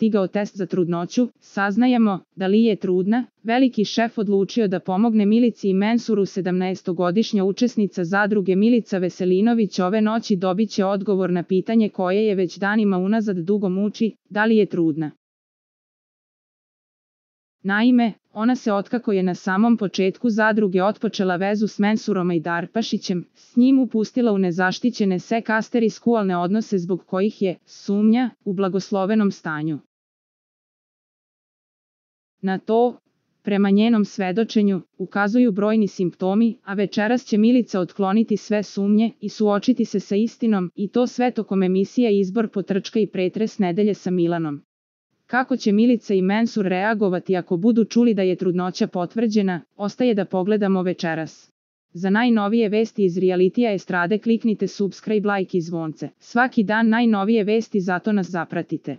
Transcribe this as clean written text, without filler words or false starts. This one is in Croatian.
stigao test za trudnoću, saznajemo da Li je trudna, veliki šef odlučio da pomogne Milici i Mensuru. 17-godišnja učesnica zadruge Milica Veselinović ove noći dobit će odgovor na pitanje koje je već danima unazad dugo muči, da li je trudna. Naime, ona se otkako je na samom početku zadruge otpočela vezu s Mensurom Ajdarpašićem, s njim upustila u nezaštićene sekasteri-skualne odnose zbog kojih je, sumnja, u blagoslovenom stanju. Na to, prema njenom svedočenju, ukazuju brojni simptomi, a večeras će Milica otkloniti sve sumnje i suočiti se sa istinom, i to sve tokom emisija Izbor, Potrčka i Pretres nedelje sa Milanom. Kako će Milica i Mensur reagovati ako budu čuli da je trudnoća potvrđena, ostaje da pogledamo večeras. Za najnovije vesti iz realitija estrade kliknite subscribe, like i zvonce. Svaki dan najnovije vesti, zato nas zapratite.